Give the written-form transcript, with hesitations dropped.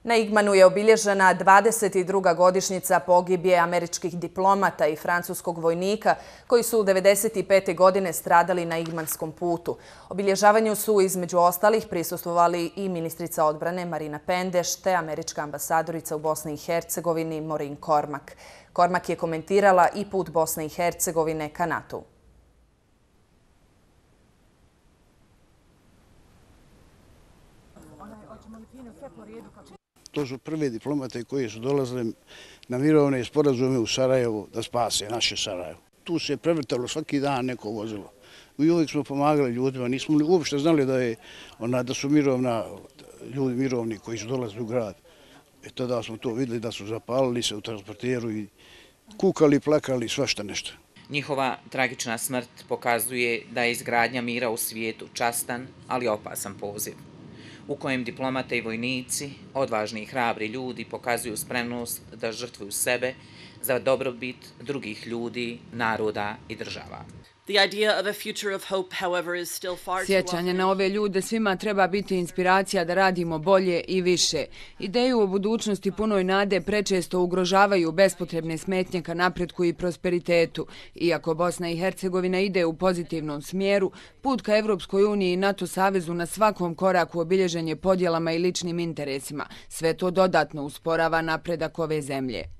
Na Igmanu je obilježena 22. godišnjica pogibije američkih diplomata i francuskog vojnika koji su 1995. godine stradali na Igmanskom putu. Obilježavanju su između ostalih prisustvovali i ministrica odbrane Marina Pendeš te američka ambasadorica u Bosni i Hercegovini Maureen Cormack. Cormack je komentirala i put Bosne i Hercegovine ka NATO-u. To su prvi diplomate koji su dolazili na mirovne sporazume u Sarajevu da spase naše Sarajevo. Tu se je prevrtalo svaki dan neko vozilo. I uvijek smo pomagali ljudima, nismo uopšte znali da su ljudi mirovni koji su dolazili u grad. Tada smo to vidjeli da su zapalili se u transporteru i kukali, plakali, svašta nešto. Njihova tragična smrt pokazuje da je izgradnja mira u svijetu častan, ali opasan poziv, u kojem diplomate i vojnici, odvažni i hrabri ljudi pokazuju spremnost da žrtvuju sebe za dobrobit drugih ljudi, naroda i država. Sjećanje na ove ljude svima treba biti inspiracija da radimo bolje i više. Ideju o budućnosti punoj nade prečesto ugrožavaju bespotrebne smetnje ka napretku i prosperitetu. Iako Bosna i Hercegovina ide u pozitivnom smjeru, put ka Evropskoj uniji i NATO savezu na svakom koraku obilježen je podjelama i ličnim interesima. Sve to dodatno usporava napredak ove zemlje.